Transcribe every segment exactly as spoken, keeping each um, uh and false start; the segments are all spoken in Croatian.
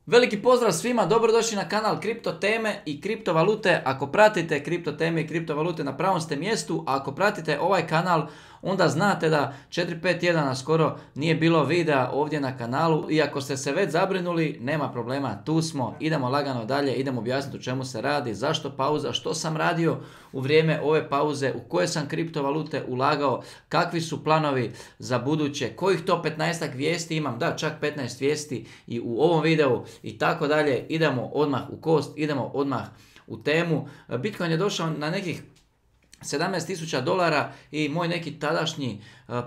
Veliki pozdrav svima, dobrodošli na kanal Kripto teme i kriptovalute. Ako pratite kripto teme i kriptovalute na pravom ste mjestu, a ako pratite ovaj kanal onda znate da četiri pet tjedana skoro nije bilo videa ovdje na kanalu i ako ste se već zabrinuli, nema problema, tu smo, idemo lagano dalje, idemo objasniti o čemu se radi, zašto pauza, što sam radio u vrijeme ove pauze, u koje sam kriptovalute ulagao, kakvi su planovi za buduće, kojih to petnaestak vijesti imam, da čak petnaest vijesti i u ovom videu i tako dalje. Idemo odmah u kost, idemo odmah u temu. Bitcoin je došao na nekih sedamnaest tisuća dolara i moj neki tadašnji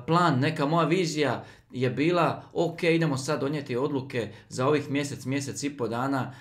plan, neka moja vizija je bila ok, idemo sad donijeti odluke za ovih mjesec, mjesec i po dana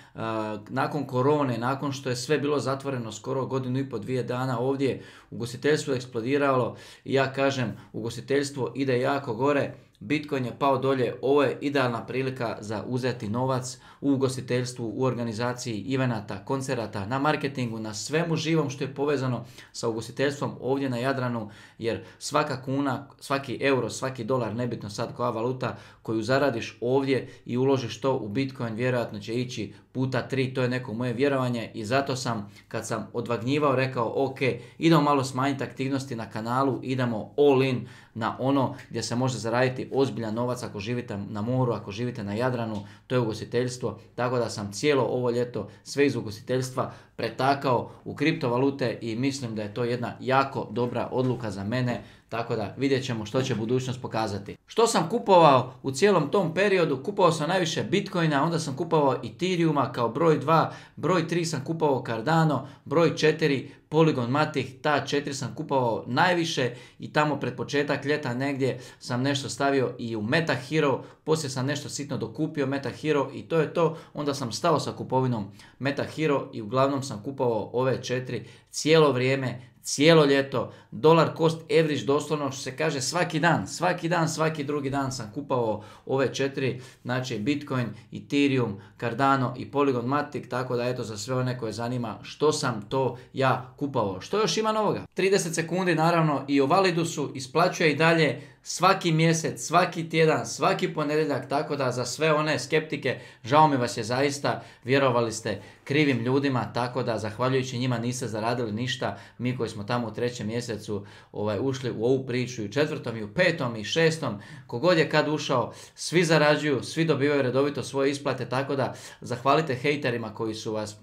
nakon korone, nakon što je sve bilo zatvoreno skoro godinu i po, dvije dana ovdje, ugostiteljstvo je eksplodiralo i ja kažem ugostiteljstvo ide jako gore. Bitcoin je pao dolje, ovo je idealna prilika za uzeti novac u ugostiteljstvu, u organizaciji evenata, koncerata, na marketingu, na svemu živom što je povezano sa ugostiteljstvom ovdje na Jadranu, jer svaka kuna, svaki euro, svaki dolar, nebitno sad koja valuta koju zaradiš ovdje i uložiš to u Bitcoin, vjerojatno će ići puta tri, to je neko moje vjerovanje i zato sam kad sam odvagnjivao rekao ok, idemo malo smanjiti aktivnosti na kanalu, idemo all in na ono gdje se može zaraditi ozbiljan novac ako živite na moru, ako živite na Jadranu, to je ugostiteljstvo, tako da sam cijelo ovo ljeto sve iz ugostiteljstva pretakao u kriptovalute i mislim da je to jedna jako dobra odluka za mene, tako da vidjet ćemo što će budućnost pokazati. Što sam kupovao u cijelom tom periodu? Kupovao sam najviše Bitcoina, onda sam kupovao Ethereuma kao broj dva, broj tri sam kupovao Cardano, broj četiri Polygon Matic, ta četiri sam kupovao najviše i tamo pred početak ljeta negdje sam nešto stavio i u MetaHero, poslije sam nešto sitno dokupio MetaHero i to je to, onda sam stao sa kupovinom MetaHero i uglavnom sam kupovao ove četiri cijelo vrijeme, cijelo ljeto, dolar cost average doslovno što se kaže svaki dan, svaki dan, svaki drugi dan sam kupovao ove četiri, znači Bitcoin, Ethereum, Cardano i Polygon Matic, tako da eto za sve one koje zanima što sam to ja kupovao. Što još ima novoga? trideset sekundi naravno i o Validusu isplaćuje i dalje svaki mjesec, svaki tjedan, svaki ponedjeljak, tako da za sve one skeptike, žao mi vas je zaista, vjerovali ste krivim ljudima, tako da zahvaljujući njima niste zaradili ništa, mi koji smo tamo u trećem mjesecu ovaj, ušli u ovu priču i u četvrtom i u petom i šestom, kogod je kad ušao, svi zarađuju, svi dobivaju redovito svoje isplate, tako da zahvalite hejterima koji su vas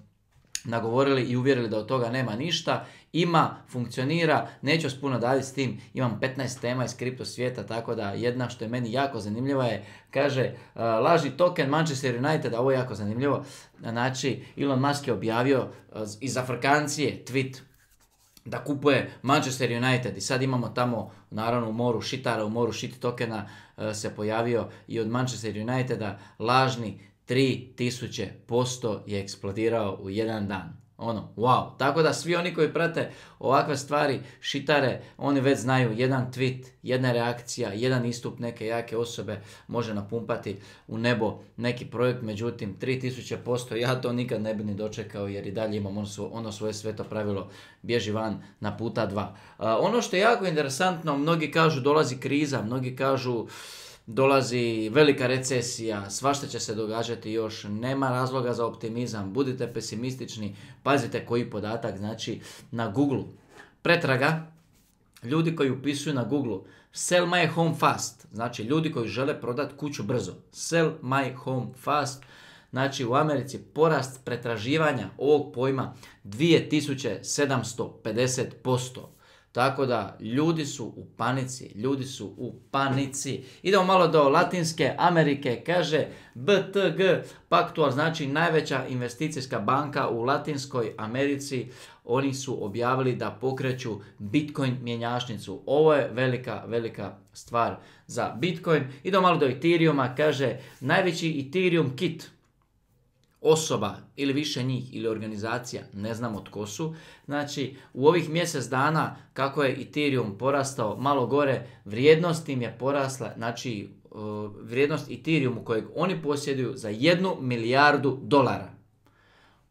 nagovorili i uvjerili da od toga nema ništa. Ima, funkcionira, neću vas puno dalje s tim, imam petnaest tema iz kripto svijeta, tako da jedna što je meni jako zanimljiva je, kaže, uh, lažni token Manchester United, a ovo je jako zanimljivo, znači Elon Musk je objavio uh, iz Afrikancije tweet da kupuje Manchester United i sad imamo tamo, naravno u moru šitara, u moru shit tokena uh, se pojavio i od Manchester Uniteda lažni tri tisuće posto je eksplodirao u jedan dan. Ono, wow. Tako da svi oni koji prate ovakve stvari, šitare, oni već znaju jedan tweet, jedna reakcija, jedan istup neke jake osobe može napumpati u nebo neki projekt, međutim tri tisuće posto ja to nikad ne bi ni dočekao jer i dalje imam ono, svo, ono svoje sveto pravilo, bježi van na puta dva. Uh, ono što je jako interesantno, mnogi kažu dolazi kriza, mnogi kažu dolazi velika recesija, svašta će se događati još, nema razloga za optimizam, budite pesimistični, pazite koji podatak, znači na Google pretraga, ljudi koji upisuju na Google sell my home fast, znači ljudi koji žele prodati kuću brzo, sell my home fast, znači u Americi porast pretraživanja ovog pojma dvije tisuće sedamsto pedeset posto. Tako da ljudi su u panici, ljudi su u panici. Idemo malo do Latinske Amerike, kaže B T G Pactual, znači najveća investicijska banka u Latinskoj Americi. Oni su objavili da pokreću Bitcoin mjenjačnicu. Ovo je velika, velika stvar za Bitcoin. Idemo malo do Ethereuma, kaže najveći Ethereum kit osoba ili više njih ili organizacija, ne znamo tko su. Znači u ovih mjesec dana kako je Ethereum porastao malo gore, vrijednost im je porasla, znači vrijednost Ethereumu kojeg oni posjeduju za jednu milijardu dolara.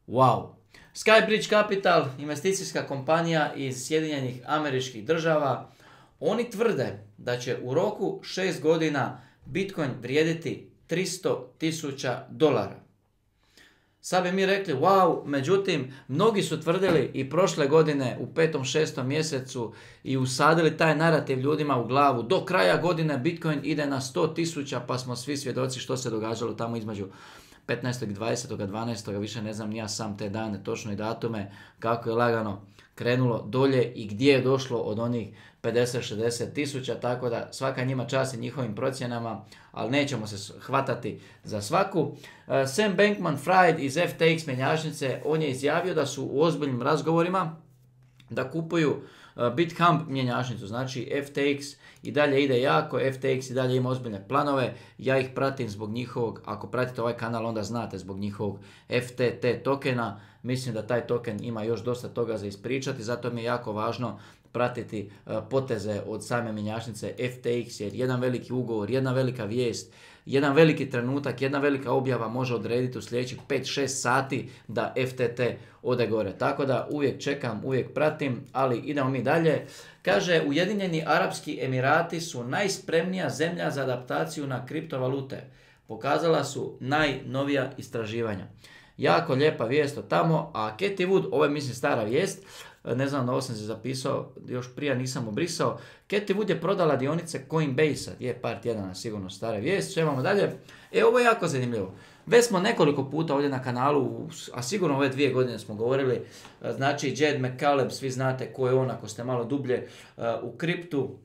Wow! Skybridge Capital, investicijska kompanija iz Sjedinjenih Američkih Država, oni tvrde da će u roku šest godina Bitcoin vrijediti tristo tisuća dolara. Sad bi mi rekli wow, međutim, mnogi su tvrdili i prošle godine u petom, šestom mjesecu i usadili taj narativ ljudima u glavu. Do kraja godine Bitcoin ide na sto tisuća, pa smo svi svjedoci što se događalo tamo između petnaestog i dvadesetog dvanaestog više ne znam ni ja sam te dane, točno i datume, kako je lagano krenulo dolje i gdje je došlo od onih pedeset šezdeset tisuća, tako da svaka njima čast i njihovim procjenama, ali nećemo se hvatati za svaku. Uh, Sam Bankman-Fried iz F T X mjenjačnice, on je izjavio da su u ozbiljnim razgovorima da kupuju uh, BitHump mjenjačnicu, znači F T X i dalje ide jako, F T X i dalje ima ozbiljne planove, ja ih pratim zbog njihovog, ako pratite ovaj kanal onda znate zbog njihovog F T T tokena, mislim da taj token ima još dosta toga za ispričati, zato mi je jako važno pratiti uh, poteze od same mjenjačnice F T X, jer jedan veliki ugovor, jedna velika vijest, jedan veliki trenutak, jedna velika objava može odrediti u sljedećih pet šest sati da F T T ode gore. Tako da uvijek čekam, uvijek pratim, ali idemo mi dalje. Kaže, Ujedinjeni Arapski Emirati su najspremnija zemlja za adaptaciju na kriptovalute. Pokazala su najnovija istraživanja. Jako lijepa vijest od tamo, a Cathie Wood, ovo je mislim stara vijest, ne znam, ovo sam se zapisao, još prije nisam obrisao. Cathie Wood je prodala dionice Coinbase-a, je par tjedana sigurno stara vijest, što imamo dalje. E, ovo je jako zanimljivo. Već smo nekoliko puta ovdje na kanalu, a sigurno ove dvije godine smo govorili, znači Jed McCaleb, svi znate ko je on ako ste malo dublje uh, u kriptu,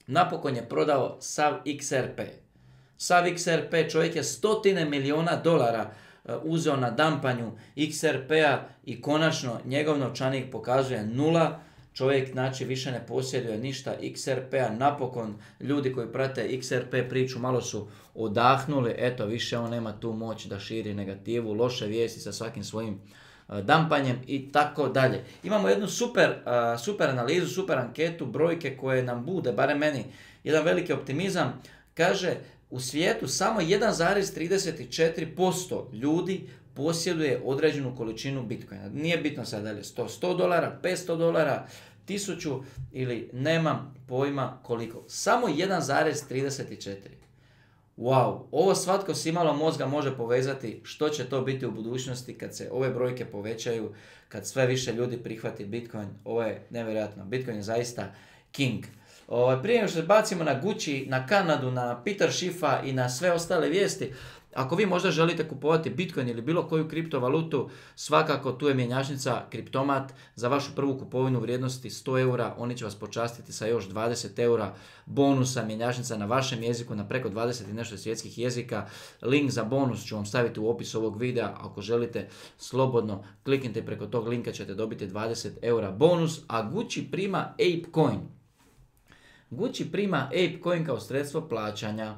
napokon je prodao sav X R P. Sav X R P, čovjek je stotine milijuna dolara uzeo na dampanju X R P-a i konačno njegov novčanik pokazuje nula. Čovjek znači više ne posjeduje ništa X R P-a. Napokon ljudi koji prate X R P priču malo su odahnuli. Eto, više on nema tu moć da širi negativu, loše vijesti sa svakim svojim uh, dampanjem i tako dalje. Imamo jednu super, uh, super analizu, super anketu, brojke koje nam bude, barem meni, jedan veliki optimizam. Kaže, u svijetu samo jedan zarez trideset četiri posto ljudi posjeduje određenu količinu Bitcoina. Nije bitno sad dalje sto, sto dolara, petsto dolara, tisuću ili nemam pojma koliko. Samo jedan zarez trideset četiri. Wow, ovo svatko s imalo mozga može povezati što će to biti u budućnosti kad se ove brojke povećaju, kad sve više ljudi prihvati Bitcoin. Ovo je nevjerojatno. Bitcoin je zaista king. Ovaj, prije nego što se bacimo na Gucci, na Kanadu, na Peter Schiffa i na sve ostale vijesti, ako vi možda želite kupovati Bitcoin ili bilo koju kriptovalutu, svakako tu je mjenjačnica Kriptomat za vašu prvu kupovinu vrijednosti sto eura. Oni će vas počastiti sa još dvadeset eura bonusa, mjenjačnica na vašem jeziku, na preko dvadeset i nešto svjetskih jezika. Link za bonus ću vam staviti u opisu ovog videa. Ako želite, slobodno kliknite i preko tog linka ćete dobiti dvadeset eura bonus, a Gucci prima ApeCoin. Gucci prima ApeCoin kao sredstvo plaćanja.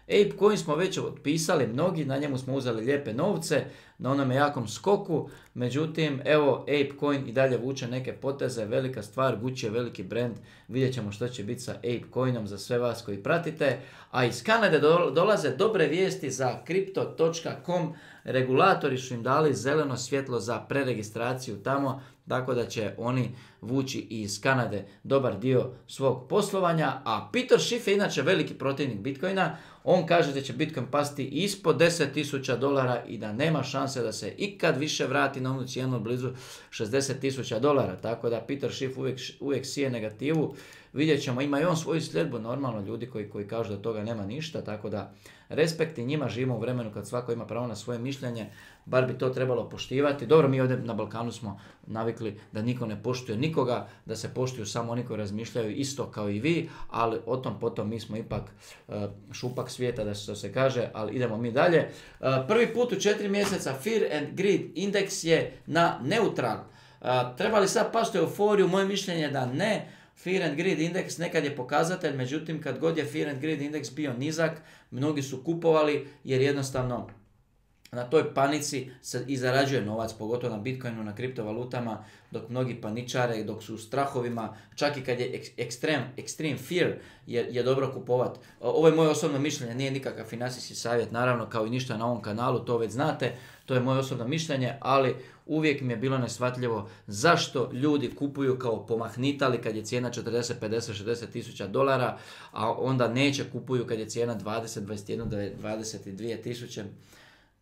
ApeCoin smo već otpisali mnogi, na njemu smo uzeli lijepe novce, na onome jakom skoku, međutim, evo, ApeCoin i dalje vuče neke poteze, velika stvar, Gucci je veliki brand, vidjet ćemo što će biti sa ApeCoinom za sve vas koji pratite, a iz Kanade dolaze dobre vijesti za Crypto točka com, regulatori su im dali zeleno svjetlo za preregistraciju tamo, tako da će oni vući iz Kanade dobar dio svog poslovanja, a Peter Schiff je inače veliki protivnik Bitcoina, on kaže da će Bitcoin pasti ispod deset tisuća dolara i da nema šanse da se ikad više vrati na onu cijenu blizu šezdeset tisuća dolara, tako da Peter Schiff uvijek, uvijek sije negativu, vidjet ćemo, ima i on svoju sljedbu, normalno ljudi koji, koji kažu da toga nema ništa, tako da respekt i njima, živimo u vremenu kad svako ima pravo na svoje mišljenje, bar bi to trebalo poštivati. Dobro, mi ovdje na Balkanu smo navikli da niko ne poštuje nikoga, da se poštuju samo oni koji razmišljaju isto kao i vi, ali o tom potom mi smo ipak uh, šupak svijeta, da se, se kaže, ali idemo mi dalje. Uh, prvi put u četiri mjeseca Fear and Greed indeks je na neutral. Uh, treba li sad pasti euforiju? Moje mišljenje je da ne. Fear and Greed indeks nekad je pokazatelj, međutim kad god je Fear and Greed indeks bio nizak, mnogi su kupovali jer jednostavno na toj panici se i zarađuje novac, pogotovo na Bitcoinu, na kriptovalutama, dok mnogi paničare, dok su u strahovima, čak i kad je ekstrem, extreme fear, je, je dobro kupovat. Ovo je moje osobno mišljenje, nije nikakav financijski savjet, naravno, kao i ništa na ovom kanalu, to već znate, to je moje osobno mišljenje, ali uvijek mi je bilo neshvatljivo zašto ljudi kupuju kao pomahnitali kad je cijena četrdeset, pedeset, šezdeset tisuća dolara, a onda neće kupuju kad je cijena dvadeset, dvadeset jedan, dvadeset dvije tisuće.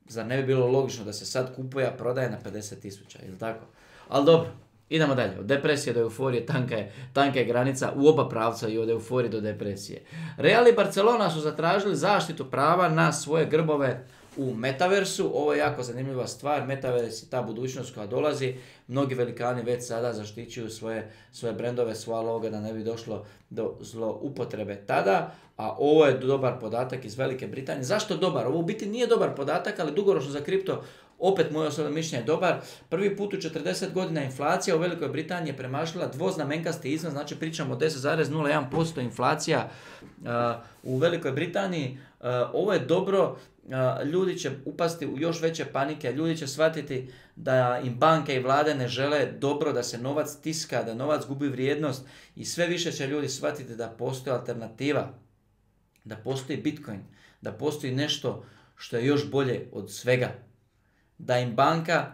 zar ne bi bilo logično da se sad kupuje, a prodaje na pedeset tisuća, ili tako? Ali dobro, idemo dalje. Od depresije do euforije tanka je, tanka je granica u oba pravca i od euforije do depresije. Real i Barcelona su zatražili zaštitu prava na svoje grbove u metaversu. Ovo je jako zanimljiva stvar. Metavers je ta budućnost koja dolazi. Mnogi velikani već sada zaštićuju svoje, svoje brendove, svoja loga da ne bi došlo do zloupotrebe tada. A ovo je dobar podatak iz Velike Britanije. Zašto dobar? Ovo u biti nije dobar podatak, ali dugoročno za kripto, opet moje osobno mišljenje je dobar. Prvi put u četrdeset godina inflacija u Velikoj Britaniji je premašila dvoznamenkasti iznos, znači pričamo o deset zarez nula jedan posto inflacija uh, u Velikoj Britaniji. Uh, ovo je dobro. Uh, ljudi će upasti u još veće panike, ljudi će shvatiti da im banke i vlade ne žele dobro, da se novac tiska, da novac gubi vrijednost i sve više će ljudi shvatiti da postoji alternativa, da postoji Bitcoin, da postoji nešto što je još bolje od svega. Da im banka,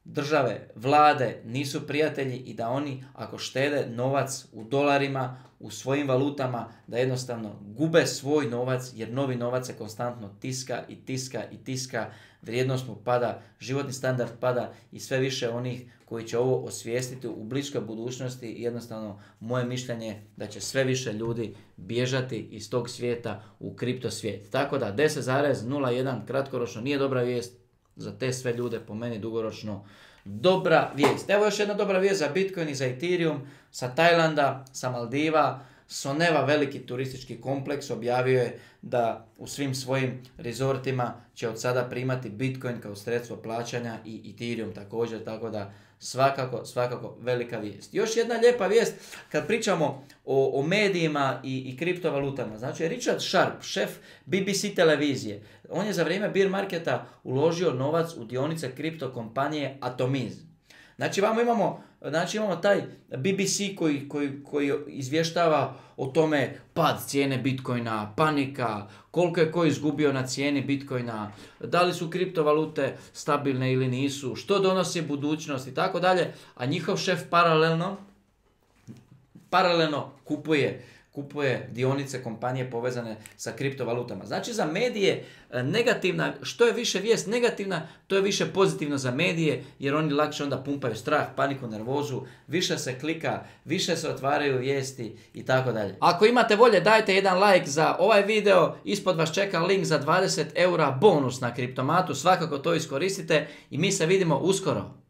države, vlade nisu prijatelji i da oni ako štede novac u dolarima, u svojim valutama, da jednostavno gube svoj novac jer novi novac se konstantno tiska i tiska i tiska, vrijednost mu pada, životni standard pada i sve više onih koji će ovo osvijestiti u bliskoj budućnosti i jednostavno moje mišljenje je da će sve više ljudi bježati iz tog svijeta u kripto svijet. Tako da deset zarez nula jedan kratkoročno nije dobra vijest, za te sve ljude po meni dugoročno dobra vijest. Evo još jedna dobra vijest za Bitcoin i za Ethereum sa Tajlanda, sa Maldiva. Soneva, veliki turistički kompleks, objavio je da u svim svojim rezortima će od sada primati Bitcoin kao sredstvo plaćanja i Ethereum također, tako da svakako, svakako velika vijest. Još jedna lijepa vijest kad pričamo o, o medijima i, i kriptovalutama. Znači Richard Sharp, šef B B C televizije, on je za vrijeme bear marketa uložio novac u dionice kripto kompanije Atomize. Znači, vamo imamo, znači imamo taj B B C koji, koji, koji izvještava o tome pad cijene Bitcoina, panika, koliko je ko izgubio na cijeni Bitcoina, da li su kriptovalute stabilne ili nisu, što donosi budućnost i tako dalje, a njihov šef paralelno, paralelno kupuje kupuje dionice kompanije povezane sa kriptovalutama. Znači za medije negativna, što je više vijest negativna, to je više pozitivno za medije, jer oni lakše onda pumpaju strah, paniku, nervozu, više se klika, više se otvaraju vijesti i tako dalje. Ako imate volje, dajte jedan like za ovaj video, ispod vas čeka link za dvadeset eura bonus na kriptomatu, svakako to iskoristite i mi se vidimo uskoro.